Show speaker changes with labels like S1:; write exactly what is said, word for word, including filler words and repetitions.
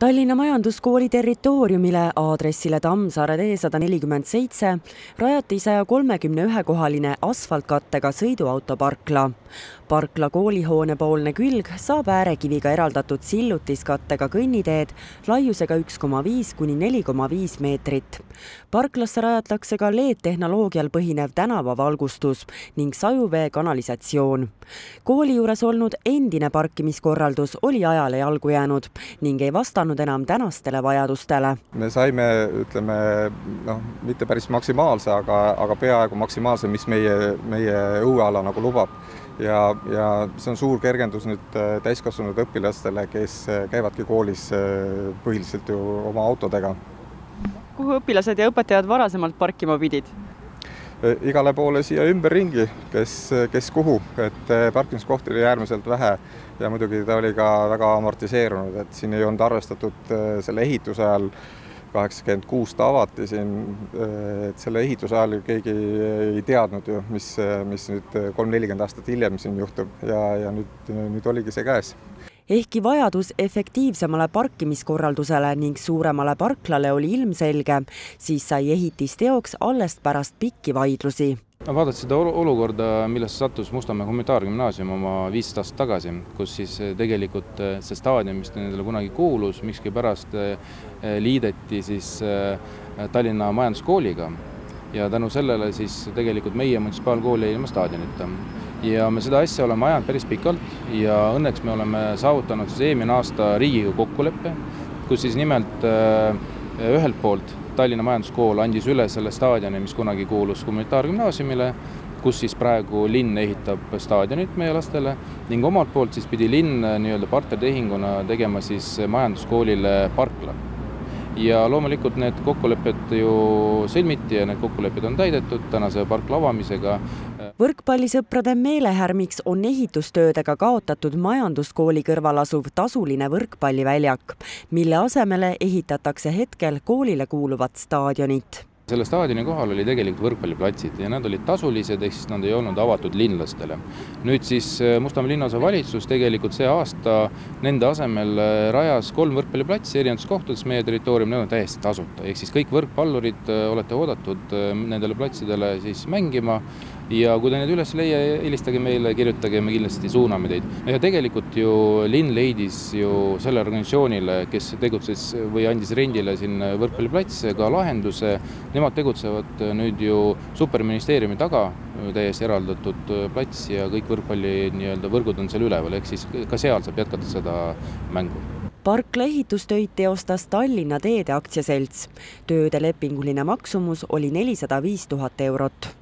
S1: Tallinna Majanduskooli territooriumile aadressile Tammsaare tee sada nelikümmend seitse rajati saja kolmekümne ühe kohaline asfaltkattega sõiduautoparkla. Parkla koolihoone poolne külg saab äärekiviga eraldatud sillutiskattega kõnniteed laiusega üks koma viis kuni neli koma viis meetrit. Parklasse rajatakse ka L E D-tehnoloogial põhinev tänavavalgustus ning sajuvee kanalisatsioon. Kooli juures olnud endine parkimiskorraldus oli ajale jalgu jäänud ning ei vastanud enam tänastele vajadustele.
S2: Me saime, ütleme, noh, mitte päris maksimaalse, aga, aga peaaegu maksimaalse, mis meie, meie õueala nagu lubab. Ja, ja see on suur kergendus nüüd täiskasvanud õpilastele, kes käivadki koolis põhiliselt ju oma autodega.
S3: Kuhu õpilased ja õpetajad varasemalt parkima pidid?
S2: Igale poole siia ümberringi, kes, kes kuhu, et parkimiskohti oli äärmiselt vähe ja muidugi ta oli ka väga amortiseerunud, et siin ei olnud arvestatud selle ehituse ajal, kaheksakümmend kuus ta avati siin, et selle ehituse ajal keegi ei teadnud ju, mis, mis nüüd kolm nelikümmend aastat hiljem siin juhtub ja, ja nüüd, nüüd oligi see käes.
S1: Ehkki vajadus efektiivsemale parkimiskorraldusele ning suuremale parklale oli ilmselge, siis sai ehitis teoks alles pärast pikki vaidlusi.
S4: Vaadati seda olukorda, millest sattus Mustamäe humanitaargümnaasium oma viis aastat tagasi, kus siis tegelikult see staadion, mis nendele kunagi kuulus, mikski pärast liideti siis Tallinna Majanduskooliga ja tänu sellele siis tegelikult meie munitsipaalkooli ilma staadionita. Ja me seda asja oleme ajanud päris pikalt ja õnneks me oleme saavutanud siis eelmine aasta Riigikogu kokkuleppe, kus siis nimelt ühelt poolt Tallinna Majanduskool andis üle selle staadioni, mis kunagi kuulus humanitaargümnaasiumile, kus siis praegu linn ehitab staadionit meie lastele ning omalt poolt siis pidi linn nii-öelda partnertehinguna tegema siis majanduskoolile parkla. Ja loomulikult need kokkulepped ju sõlmiti ja need kokkulepped on täidetud tänase parkla avamisega.
S1: Võrkpallisõprade meelehärmiks on ehitustöödega kaotatud majanduskooli kõrval asuv tasuline võrkpalliväljak, mille asemele ehitatakse hetkel koolile kuuluvat staadionit.
S4: Selle staadioni kohal oli tegelikult võrkpalliplatsid ja nad olid tasulised, ehk siis nad ei olnud avatud linlastele. Nüüd siis Mustamäe linnaosa valitsus tegelikult see aasta nende asemel rajas kolm võrkpalliplatsi erinevates kohtades meie territoorium, need on täiesti tasuta. Ehk siis kõik võrkpallurid olete oodatud nendele platsidele siis mängima ja kui te need üles leia, helistage meile, kirjutage ja me kindlasti suuname teid. Ja tegelikult ju linn leidis ju selle organisatsioonile, kes tegutses või andis rendile siin võrkpalliplatsi ka lahenduse. Nemad tegutsevad nüüd ju superministeeriumi taga, täiesti eraldatud plats ja kõik võrkpalli nii-öelda võrgud on seal üleval, ehk siis ka seal saab jätkata seda mängu.
S1: Parkla ehitustöid teostas Tallinna Teede aktsiaselts. Tööde lepinguline maksumus oli nelisada viis tuhat eurot.